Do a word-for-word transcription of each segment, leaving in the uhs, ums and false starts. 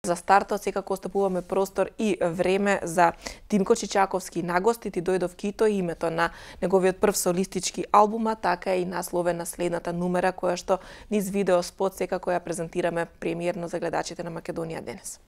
За стартот секако остапуваме простор и време за Тимко Чичаковски. На гости ти дојдов кито името на неговиот прв солистички албума, така и насловен на следната numera која што низ видео спот секако ја презентираме премиерно за гледачите на Македонија денес.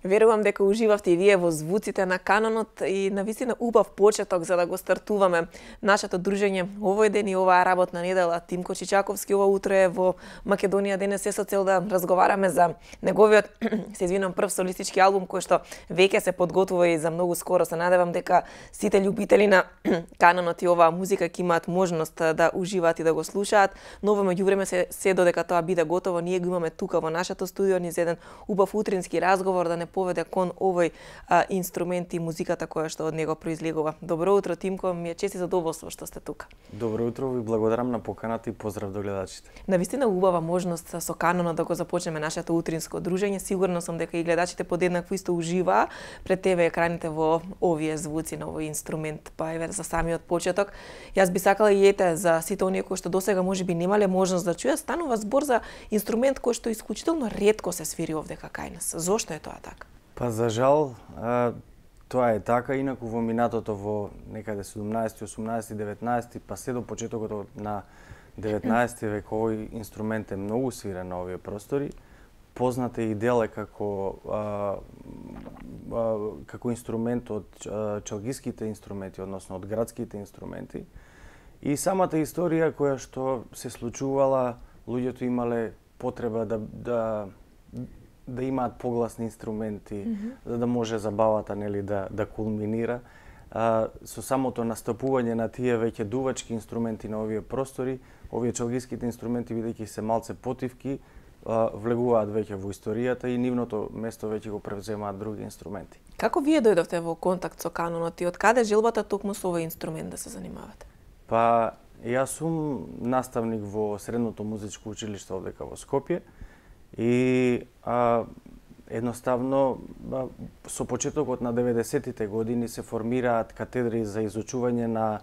Верувам дека уживавте и вие во звуците на канонот и навистина убав почеток за да го стартуваме нашето дружење овој ден и оваа работна недела. Тимко Чичаковски ова утро е во Македонија денес се со цел да разговараме за неговиот, се извинам, прв солистички албум кој што веќе се подготвува и за многу скоро. Се надевам дека сите љубители на канонот и оваа музика ќе имаат можност да уживаат и да го слушаат. Но во меѓувреме се, се додека тоа биде готово, ние го имаме тука во нашето студио низ еден убав утрински разговор да не поведе кон овој а, инструмент и музиката која што од него произлегува. Добро утро, Тимко, ми е чест и задоволство што сте тука. Добро утро, ви благодарам на поканата и поздрав до гледачите. Навистина убава можност со канонот да го започнеме нашето утринско дружење. Сигурно сум дека и гледачите подеднакво исто уживаа пред тебе екраните во овие звуци на овој инструмент. Па еве за самиот почеток, јас би сакала и ете за сите оние кои што досега можеби немале можност да чујат, станува збор за инструмент кој што исклучително ретко се свири овдека кај нас. Зошто е тоа така? Па за жал, а, тоа е така, инаку во минатото во некаде седумнаесети, осумнаесети, деветнаесети, па се до почетокот на деветнаесети век овој инструмент е многу свирен на овие простори. Познат е и дел е како а, а, како инструмент од а, чалгиските инструменти, односно од градските инструменти. И самата историја која што се случувала, луѓето имале потреба да да да имаат погласни инструменти, mm -hmm. за да може забавата нели да да кулминира. А, со самото настапување на тие веќе дувачки инструменти на овие простори, овие чалгиските инструменти бидејќи се малце потивки, а, влегуваат веќе во историјата и нивното место веќе го превземаат други инструменти. Како вие дојдовте во контакт со канонот и од каде желбата токму со овој инструмент да се занимавате? Па јас сум наставник во Средното музичко училиште овдека во Скопје. И а, едноставно а, со почетокот на деветдесеттите години се формираат катедри за изучување на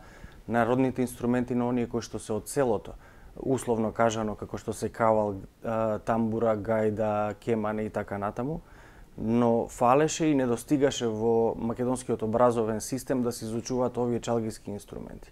народните инструменти на оние кои што се од селото. Условно кажано како што се кавал, а, тамбура, гајда, кемане и така натаму. Но фалеше и недостигаше во македонскиот образовен систем да се изучуваат овие чалгиски инструменти.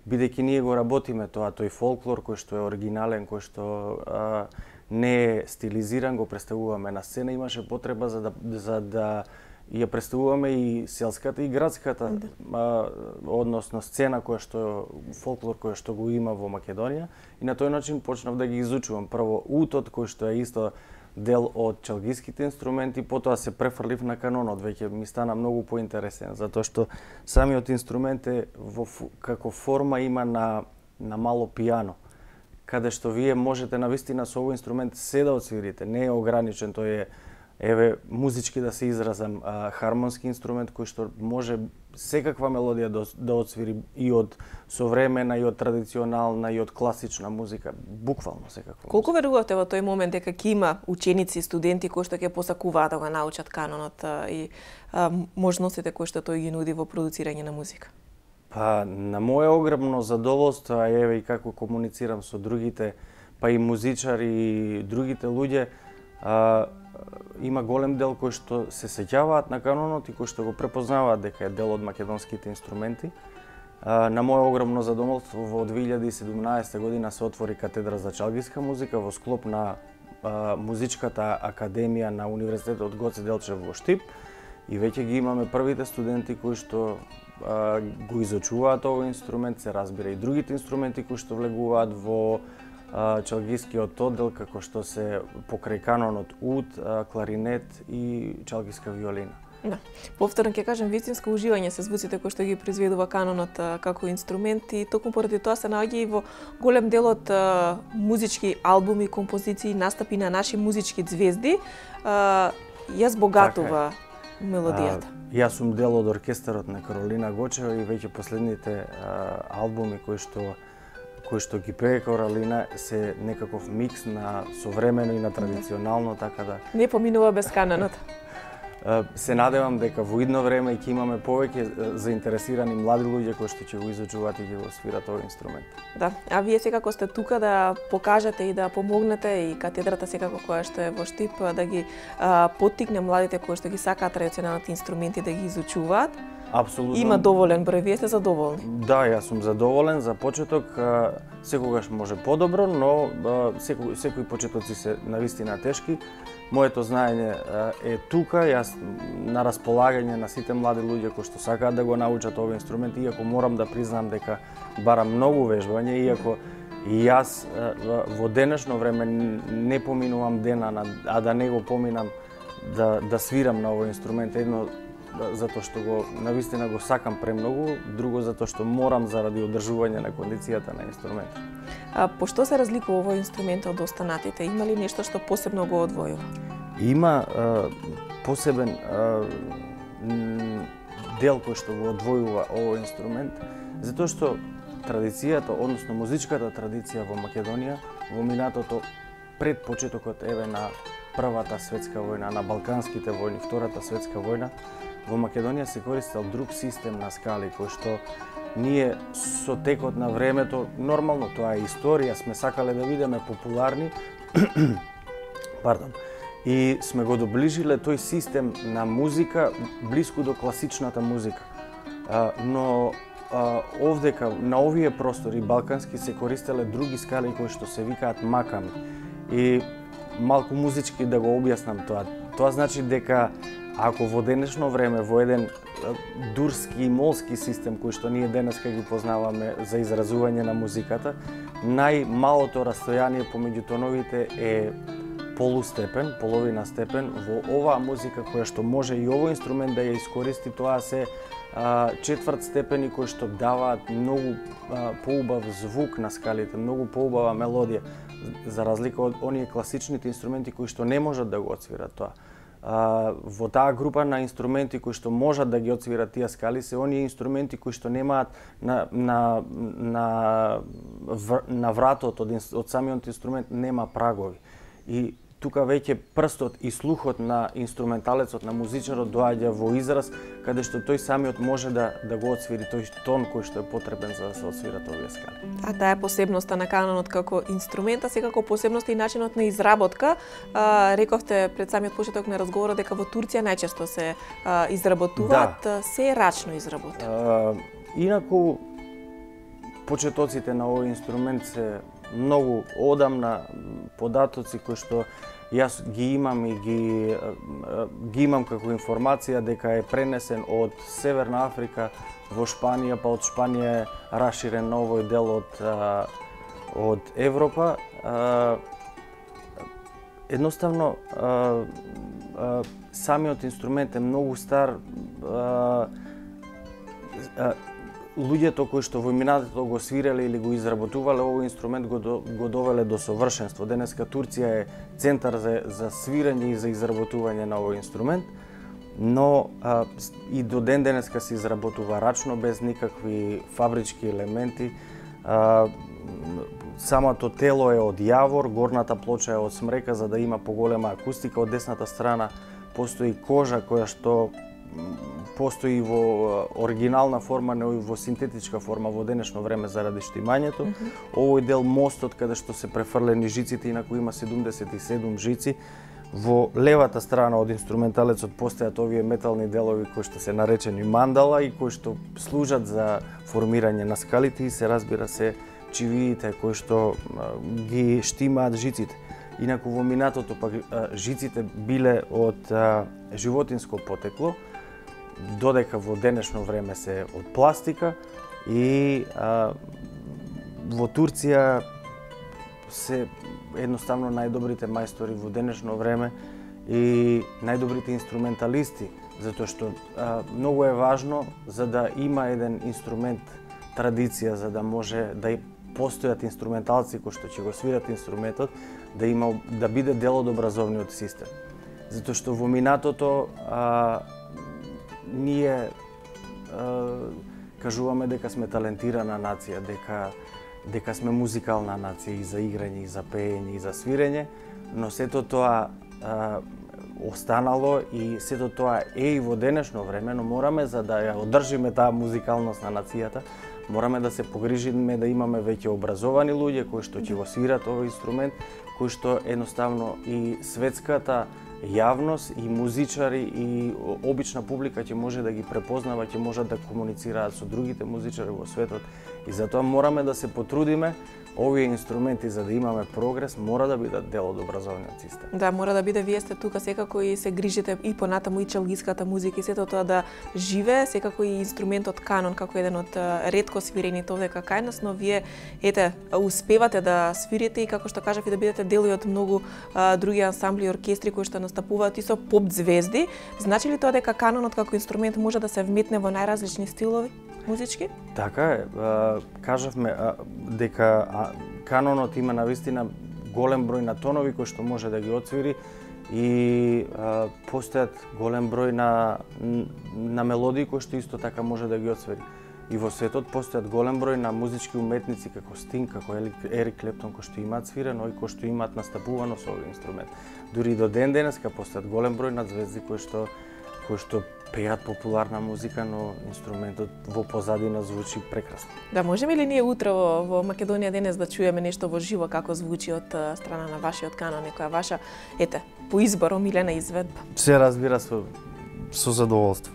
Бидејќи ние го работиме тоа, тој фолклор кој што е оригинален, кој што а, не е стилизиран, го представуваме на сцена, имаше потреба за да за да ја представуваме и селската и градската, да. а, односно сцена која што фолклор која што го има во Македонија, и на тој начин почнав да ги изучувам. Прво утот кој што е исто дел од чалгиските инструменти, потоа се префрлив на канонот, веќе ми стана многу поинтересен, затоа што самиот инструмент е во како форма има на на мало пијано, каде што вие можете навистина со овој инструмент се да отсвирите, не е ограничен, тој е еве музички да се изразам, а, хармонски инструмент кој што може секаква мелодија да, да отсвири и од современа, и од традиционална, и од класична музика, буквално секаква. Колку музика. Верувате во тој момент дека ќе има ученици и студенти кои што ќе посакуваат да го научат канонот а, и а, можностите кои што тој ги нуди во продуцирање на музика? Па, на моје огромно задоволство, а еве и како комуницирам со другите, па и музичари и другите луѓе, а, има голем дел кои што се сеќаваат на канонот и кои што го препознаваат дека е дел од македонските инструменти. А, на моје огромно задоволство во две илјади и седумнаесета година се отвори катедра за чалгиска музика во склоп на а, музичката академија на Универзитетот Гоце Делчев во Штип, и веќе ги имаме првите студенти кои што а, го изучуваат овој инструмент, се разбира и другите инструменти кои што влегуваат во а, чалгискиот оддел, како што се покрај канонот уд, а, кларинет и чалгиска виолина. Да. Повторно ќе кажам, вистинско уживање се звуците кои што ги произведува канонот а, како инструмент, и токму поради тоа се наоѓа и во голем дел од а, музички албуми, композиции, настапи на наши музички звезди, а, ја збогатува така мелодијата. А, јас сум дел од оркестарот на Каролина Гочева и веќе последните а, албуми кои што кои што ги пее Каролина се некаков микс на современо и на традиционално, така да не поминува без канонот. Се надевам дека во идно време ќе имаме повеќе заинтересирани млади луѓе кои што ќе го изучуваат и ќе го свират овој инструмент. Да, а вие секако сте тука да покажете и да помогнете, и катедрата секако која што е во Штип да ги а, поттикне младите кои што ги сакаат традиционалните инструменти да ги изучуваат. Апсолутно. Има доволен број, вие сте задоволни? Да, јас сум задоволен. За почеток, секогаш може подобро, но секој, секои почетоци се навистина тешки. Моето знаење е тука, јас на располагање на сите млади луѓе кои што сакаат да го научат овој инструмент, иако морам да признам дека барам многу вежбање, иако и јас во денешно време не поминувам дена, а да не го поминам да, да свирам на овој инструмент. Едно, затоа што го навистина го сакам премногу, друго затоа што морам заради одржување на кондицијата на инструментот. А по што се разликува овој инструмент од останатите? Има ли нешто што посебно го одвојува? Има а, посебен а, дел кој што го одвојува овој инструмент, затоа што традицијата, односно музичката традиција во Македонија, во минатото пред почетокот еве на Првата светска војна, на Балканските војни, Втората светска војна, во Македонија се користел друг систем на скали, кој што ние со текот на времето, нормално тоа е историја, сме сакале да бидеме популарни, пардон, и сме го доближиле тој систем на музика блиску до класичната музика. А, но а, овдека, на овие простори балкански, се користеле други скали кои што се викаат маками. И малку музички да го објаснам тоа. Тоа значи дека ако во денешно време во еден дурски и молски систем кој што ние денеска ги познаваме за изразување на музиката, најмалото растојание помеѓу тоновите е полустепен, половина степен. Во оваа музика која што може и овој инструмент да ја искористи, тоа се а, четврт степени кои што даваат многу а, поубав звук на скалите, многу поубава мелодија, за разлика од оние класичните инструменти кои што не можат да го отсвират тоа. А, во таа група на инструменти кои што можат да ги отсвират тие скали се оние инструменти кои што немаат на на на на вратот од, од самиот инструмент нема прагови. И тука веќе прстот и слухот на инструменталецот, на музичарот доаѓа во израз, каде што тој самиот може да да го отсвири тој тон кој што е потребен за да се отсвират овие скали. А таа е посебноста на канонот како инструмента, секако посебноста и начинот на изработка. А, рековте пред самиот почеток на разговорот дека во Турција најчесто се а, изработуваат, да. Се е рачно изработува. Инаку почетоците на овој инструмент се многу одамна, податоци кои што јас ги имам и ги, ги имам како информација дека е пренесен од Северна Африка во Шпанија, па од Шпанија е раширен на овој дел од, од Европа. Едноставно, самиот инструмент е многу стар. Луѓето кои што во минатото го свиреле или го изработувале овој инструмент го, до, го довеле до совршенство. Денеска Турција е центар за, за свирење и за изработување на овој инструмент, но а, и до ден денеска се изработува рачно, без никакви фабрички елементи. А, самото тело е од јавор, горната плоча е од смрека за да има поголема акустика. Од десната страна постои кожа која што постои во оригинална форма, но и во синтетичка форма во денешно време заради штимањето. Mm -hmm. Овој дел мостот каде што се префрлени жиците, инаку има седумдесет и седум жици. Во левата страна од инструменталецот постојат овие метални делови кои што се наречени мандала и кои што служат за формирање на скалите и се разбира се чивиите кои што ги штимаат жиците. Инаку во минатото пак жиците биле од животинско потекло, додека во денешно време се од пластика и а, во Турција се едноставно најдобрите мајстори во денешно време и најдобрите инструменталисти, затоа што а, многу е важно за да има еден инструмент традиција, за да може да постојат инструменталци кои што ќе го свират инструментот, да има да биде дел од образовниот систем. Затоа што во минатото а, ние а, кажуваме дека сме талентирана нација, дека дека сме музикална нација и за играње, и за пеење, и за свирење, но сето тоа а, останало и сето тоа е и во денешно време, но мораме за да ја одржиме таа музикалност на нацијата, мораме да се погрижиме да имаме веќе образовани луѓе кои што ќе го свират овој инструмент, кои што едноставно и светската јавност и музичари и обична публика ќе може да ги препознава, ќе можат да комуницираат со другите музичари во светот. И затоа мораме да се потрудиме овие инструменти за да имаме прогрес мора да бидат дел од образовниот систем. Да, мора да биде, вие сте тука секако и се грижите и понатаму и челгиската музика и сето тоа да живее, секако и инструментот канон како еден од ретко свирените овде кај нас, но вие ете успевате да свирите и како што кажав и да бидете дел од многу а, други ансамбли и оркестри кои што настапуваат и со поп звезди. Значи ли тоа дека канонот како инструмент може да се вметне во најразлични стилови музички? Така е, кажавме дека канонот има навистина голем број на тонови кои што може да ги отсвири и а, постојат голем број на, на мелодии кои што исто така може да ги отсвири. И во светот постојат голем број на музички уметници како Стинг, како Ерик Клептон кои што имаат свирено и кои што имаат настапувано со овој инструмент. Дури и до ден денеска постојат голем број на звезди кои што кои што пеат популарна музика, но инструментот во позадина звучи прекрасно. Да, можеме ли ние утре во, во Македонија денес да чуеме нешто во живо како звучи од страна на вашиот канон, некоја ваша, ете, по избор омилена изведба? Се разбира со со задоволство.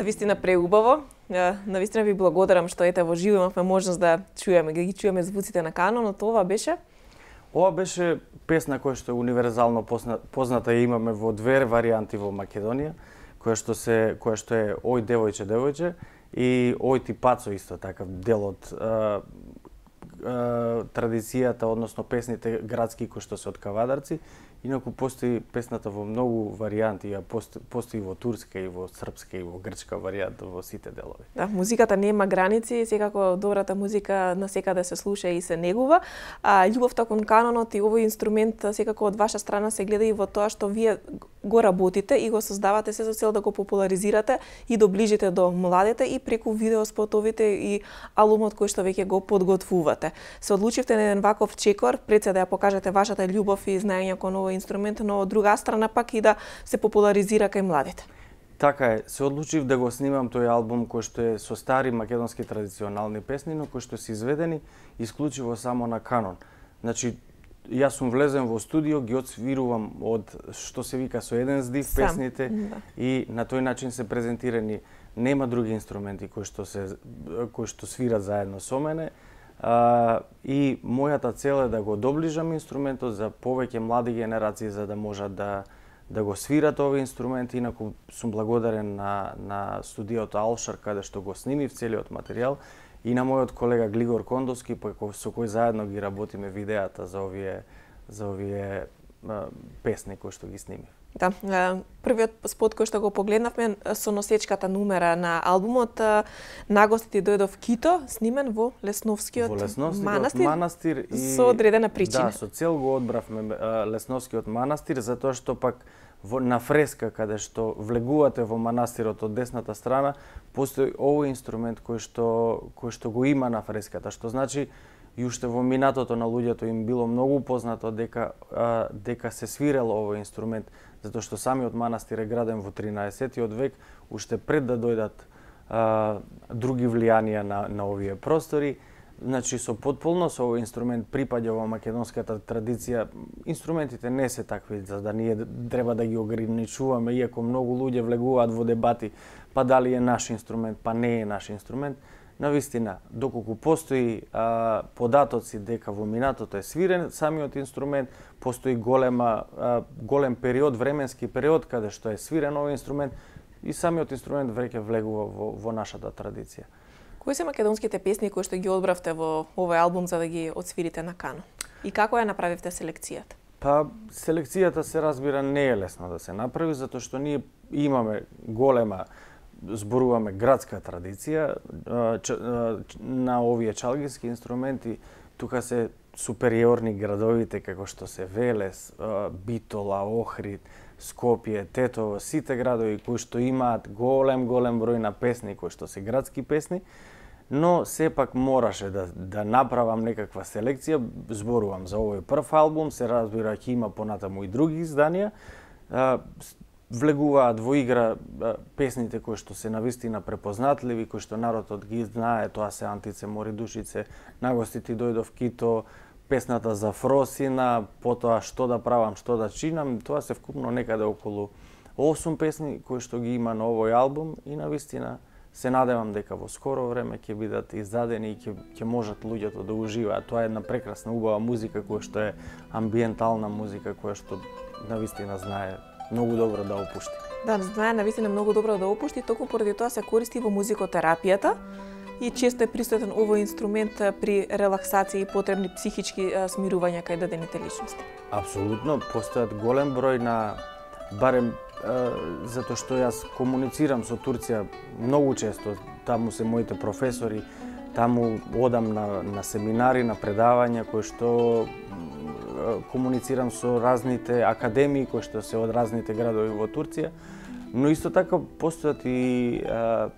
Навистина преубаво. Навистина ви благодарам што ете во живо имавме можност да чуеме, да ги чуеме звуците на канонот. Ова беше? Ова беше песна која што е универзално позната и имаме во две варијанти во Македонија, која што се која што е Ој девојче девојче и Ој ти пацо исто така дел од а, а, традицијата, односно песните градски кои што се од кавадарци. Инаку постои песната во многу варијанти, а постои во турска и во српска и во грчка варијанта во сите делови. Да, музиката нема граници, секако добрата музика насекаде се слуша и се негува. А љубовта кон канонот и овој инструмент секако од ваша страна се гледа и во тоа што вие го работите и го создавате се со цел да го популаризирате и доближите до младите и преку видеоспотовите и албумот кој што веќе го подготвувате. Се одлучивте на еден ваков чекор, пред се да ја покажете вашата љубов и знаење кон овој инструмент, но од друга страна пак и да се популаризира кај младите. Така е, се одлучив да го снимам тој албум кој што е со стари македонски традиционални песни, но кои што се изведени исклучиво само на канон. Значи, јас сум влезен во студио, ги отсвирувам од што се вика со еден здив Сам. песните да. И на тој начин се презентирани. Нема други инструменти кои што се кои што свират заедно со мене. А, и мојата цел е да го доближам инструментот за повеќе млади генерации за да можат да да го свират овој инструмент. Инаку сум благодарен на, на студиото Алшар, каде што го снимив целиот материјал, и на мојот колега Глигор Кондовски, со кој заедно ги работиме видеата за овие, за овие а, песни кои што ги снимив. Да, првиот спот кој што го погледнавме со носечката нумера на албумот, нагостите дојдов Кито, снимен во Лесновскиот, во Лесновскиот манастир, манастир и со одредена причина. Да, со цел го одбравме Лесновскиот манастир, затоа што пак во, на фреска каде што влегувате во манастирот од десната страна, постои овој инструмент кој што кој што го има на фреската, што значи и уште во минатото на луѓето им било многу познато дека а, дека се свирел овој инструмент, затоа што самиот манастир е граден во тринаесеттиот век, уште пред да дојдат а, други влијанија на, на овие простори. Значи, со потполност овој инструмент припаѓа во македонската традиција. Инструментите не се такви за да ние треба да ги ограничуваме, иако многу луѓе влегуваат во дебати, па дали е наш инструмент, па не е наш инструмент. Навистина, доколку постои а, податоци дека во минатото е свирен самиот инструмент, постои голема, а, голем период, временски период каде што е свирен овој инструмент и самиот инструмент веќе влегува во, во нашата традиција. Кои се македонските песни кои што ги одбравте во овој албум за да ги отсвирите на канон? И како ја направивте селекцијата? Па, селекцијата се разбира не е лесно да се направи, затоа што ние имаме голема, зборуваме градска традиција на овие чалгински инструменти. Тука се супериорни градовите како што се Велес, Битола, Охрид, Скопје, Тетово, сите градови кои што имаат голем голем број на песни кои што се градски песни, но сепак мораше да да направам некаква селекција. Зборувам за овој прв албум, се разбира ќе има понатаму и други изданија. Влегуваат во игра песните кои што се навистина препознатливи, кои што народот ги знае, тоа се Антице мори душице, Нагостите дојдов Кито, песната за Фросина, потоа Што да правам, што да чинам. Тоа се вкупно некаде околу осум песни кои што ги има на овој албум и навистина се надевам дека во скоро време ќе бидат издадени и ќе ќе можат луѓето да уживаат. Тоа е една прекрасна убава музика која што е амбиентална музика која што навистина знае многу добро да опушти. Да, знае навистина многу добро да опушти, токму поради тоа се користи во музикотерапијата и често е присутен овој инструмент при релаксација и потребни психички смирувања кај дадените личности. Апсолутно, постојат голем број на, барем затоа што јас комуницирам со Турција многу често, таму се моите професори, таму одам на, на семинари, на предавања кои што комуницирам со разните академии кои што се од разните градови во Турција, но исто така постојат и а,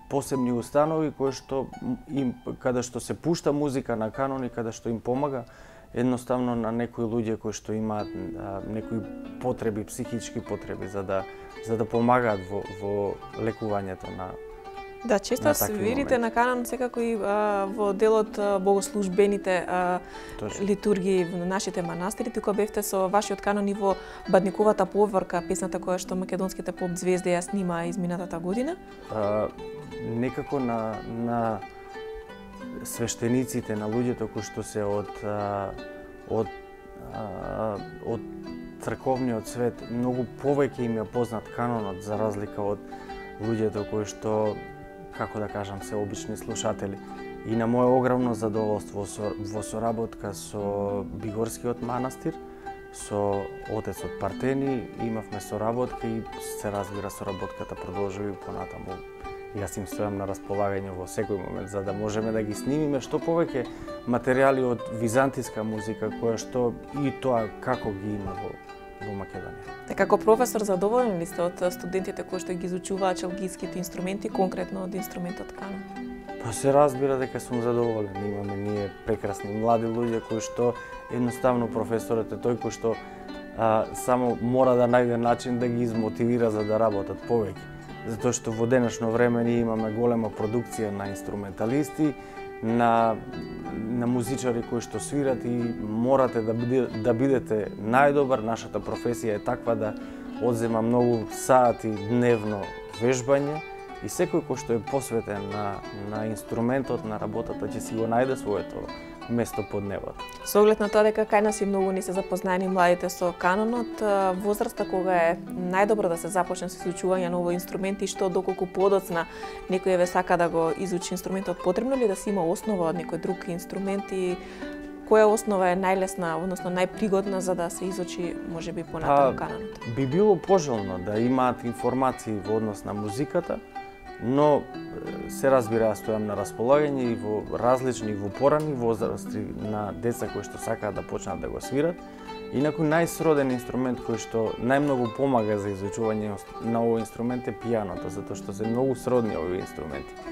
посебни установи кои што им каде што се пушта музика на канон и каде што им помага едноставно на некои луѓе кои што имаат а, некои потреби, психички потреби за да за да помагаат во во лекувањето на. Да, често свирите на канон секако и а, во делот а, богослужбените а, литургии во нашите манастири, тука бевте со вашиот канон и во Бадниковата поворка, песната која што македонските поп звезди ја снима изминатата година. А, некако на на свештениците, на луѓето кои што се од а, од а, од црковниот свет многу повеќе им е познат канонот за разлика од луѓето кои што, како да кажам, се обични слушатели. И на моје огромно задоволство со, во соработка со Бигорскиот манастир, со отецот Партени, имавме соработка и се разбира соработката продолжува и понатаму. Јас им стојам на располагање во секој момент за да можеме да ги снимиме што повеќе материјали од византиска музика која што и тоа како ги има во во Македонија. Така, како професор, задоволен ли сте од студентите кои што ги изучуваат чалгиските инструменти, конкретно од инструментот канон? Па се разбира дека сум задоволен. Имаме ние прекрасни млади луѓе кои што едноставно професорот е тој кој што а, само мора да најде начин да ги измотивира за да работат повеќе. Затоа што во денешно време ние имаме голема продукција на инструменталисти, на на музичари кои што свират и морате да биде, да бидете најдобар. Нашата професија е таква да одзема многу сати дневно вежбање и секој кој што е посветен на, на инструментот, на работата, ќе си го најде своето место под небото. Со оглед на тоа дека кај нас и многу не се запознаени младите со канонот, возраста кога е најдобро да се започне со изучување на овој инструмент и што доколку подоцна некој еве сака да го изучи инструментот, потребно ли да се има основа од некој друг инструмент и која основа е најлесна, односно најпригодна за да се изучи можеби понатаму канонот? Би било пожелно да имаат информации во однос на музиката, но се разбира, јас стојам на располагање и во различни, во порани возрасти на деца кои што сакаат да почнат да го свират. Инаку најсроден инструмент кој што најмногу помага за изучување на овој инструмент е пијаното, затоа што се многу сродни овие инструменти.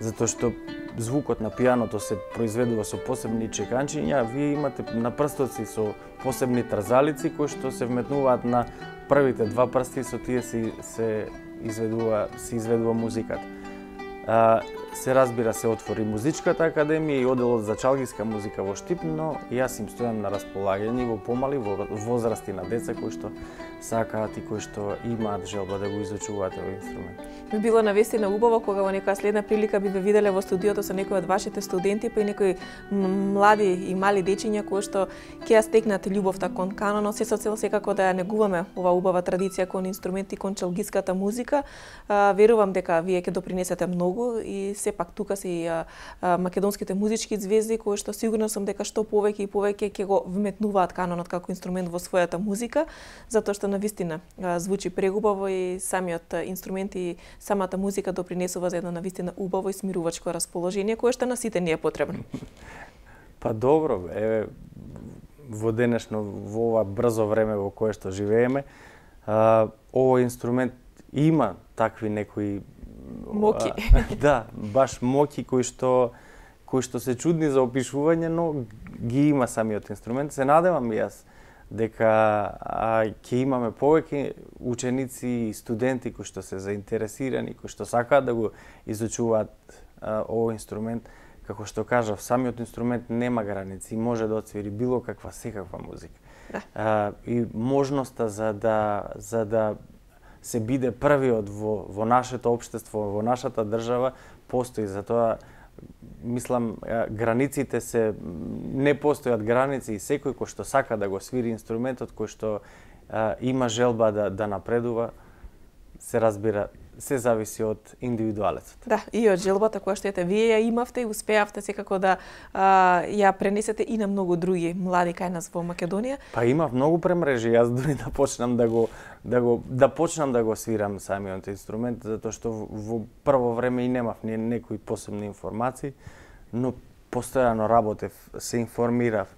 Затоа што звукот на пијаното се произведува со посебни чеканчиња, вие имате на прстоци со посебни трзалици кои што се вметнуваат на првите два прсти, со тие се, се изведува се изведува музиката. А, се разбира, се отвори музичката академија и оделот за чалгиска музика во Штип, но јас им стојам на располагање во помали возрасти на деца кои што сакаат и кои што имаат желба да го изучуваат овој инструмент. Би било навистина убаво кога во некоја следна прилика би ве виделе во студиото со некои од вашите студенти, па и некои млади и мали дечиња кои што ќе ја стекнат љубовта кон канонот, се со цел секако да ја негуваме ова убава традиција кон инструменти, кон чалгиската музика. А, верувам дека вие ќе допринесете многу и сепак тука се и а, а, македонските музички звезди кои што сигурно сум дека што повеќе и повеќе ќе го вметнуваат канонот како инструмент во својата музика, затоа што навистина а, звучи прегубаво и самиот инструмент и самата музика допринесува за едно навистина убаво и смирувачко расположение кое што на сите ни е потребно. Па добро, еве во денешно во ова брзо време во кое што живееме, а, овој инструмент има такви некои моки. А, да, баш моки кои што кои што се чудни за опишување, но ги има самиот инструмент. Се надевам и јас дека ќе имаме повеќе ученици и студенти кои што се заинтересирани, кои што сакаат да го изучуваат а, овој инструмент. Како што кажав, самиот инструмент нема граници и може да отсвири било каква секаква музика. Да. А, и можноста за да за да се биде првиот во, во нашето општество, во нашата држава, постои. Затоа, мислам, границите се, не постојат граници и секој кој што сака да го свири инструментот, кој што а, има желба да, да напредува, се разбира, се зависи од индивидуалецот. Да, и од желбата која што ете вие ја имавте и успеавте секако да а, ја пренесете и на многу други млади кај нас во Македонија. Па имав многу премрежи, јас дури да почнам да го да го да почнам да го свирам самиот инструмент, затоа што во, во прво време и немав ни некои посебни информации, но постојано работев, се информирав.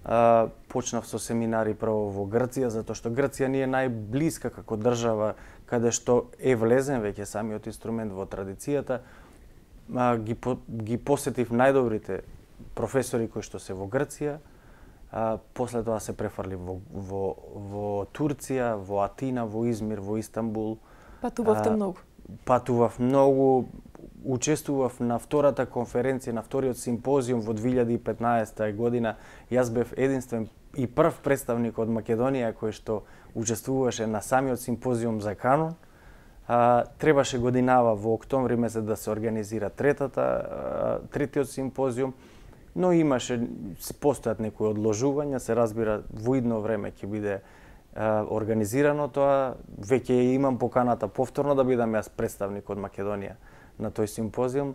А, почнав со семинари прво во Грција, затоа што Грција ни е најблиска како држава, каде што е влезен веќе самиот инструмент во традицијата. А, ги, по, ги посетив најдобрите професори кои што се во Грција, а, после тоа се префрли во, во, во Турција, во Атина, во Измир, во Истанбул. Патувавте многу. Патував многу, учествував на втората конференција, на вториот симпозиум во две илјади и петнаесета година. Јас бев единствен и прв представник од Македонија кој што учествуваше на самиот симпозиум за канон. А, требаше годинава во октомври месец да се организира третата, а, третиот симпозиум, но имаше, постојат некои одложувања, се разбира во идно време ќе биде а, организирано тоа. Веќе имам поканата повторно да бидам јас представник од Македонија на тој симпозиум,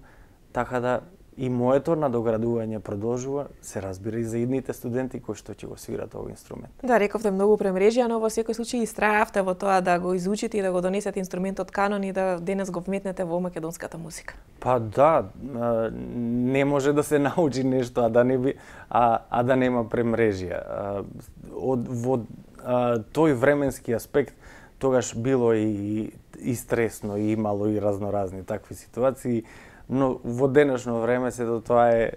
така да и моето надоградување продолжува, се разбира и за идните студенти кои што ќе го свират овој инструмент. Да, рековте многу премрежија, но во секој случај истрајавте во тоа да го изучите и да го донесете инструментот канон и да денес го вметнете во македонската музика. Па да, не може да се научи нешто, а да не би, а, а да нема премрежија. Од во а, тој временски аспект тогаш било и, и стресно, и имало и разноразни такви ситуации, но во денешно време се до тоа е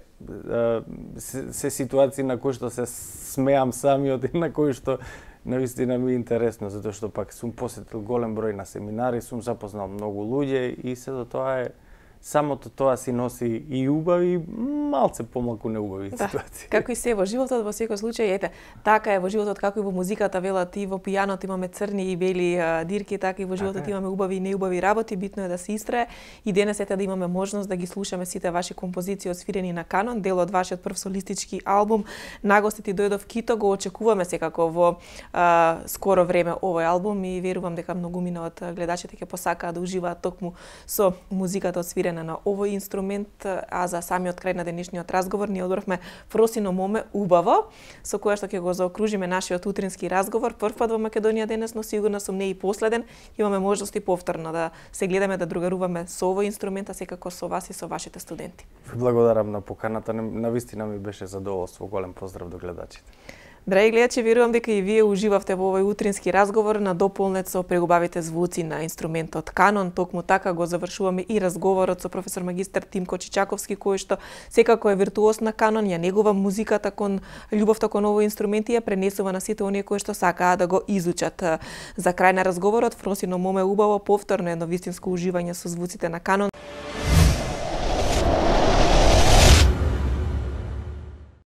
се, се ситуации на кои што се смеам самиот и на кои што навистина ми е интересно, затоа што пак сум посетил голем број на семинари, сум запознал многу луѓе и се до тоа е самото тоа си носи и убави, малце помалку неубави Да, ситуации. како и се во животот, во секој случај, ете, така е во животот, како и во музиката, велат и во пијанот имаме црни и бели а, дирки, така и во животот Така е. имаме убави и неубави работи, битно е да се истрае. И денес ете да имаме можност да ги слушаме сите ваши композиции освирени на канон, дел од вашиот прв солистички албум. Нагостите дојдов Кито, го очекуваме секако во а, скоро време овој албум и верувам дека многумина од гледачите ќе посакаат да уживаат токму со музиката освирена на овој инструмент. А за самиот крај на денешниот разговор ние одбравме Фросино моме убаво, со кое што ќе го заокружиме нашиот утрински разговор. Прв пат во Македонија денес, но сигурно сум не и последен. Имаме можност и повторно да се гледаме, да другаруваме со овој инструмент, а секако со вас и со вашите студенти. Ви благодарам на поканата, навистина ми беше задоволство. Голем поздрав до гледачите. Драги гледачи, верувам дека и вие уживавте во овој утрински разговор на дополнет со прегубавите звуци на инструментот канон. Токму така го завршуваме и разговорот со професор магистар Тимко Чичаковски, кој што секако е виртуоз на канон, ја негува музиката кон љубовта кон овој инструмент и ја пренесува на сите оние кои што сакаат да го изучат. За крај на разговорот, Фросино моме убаво, повторно едно вистинско уживање со звуците на канон.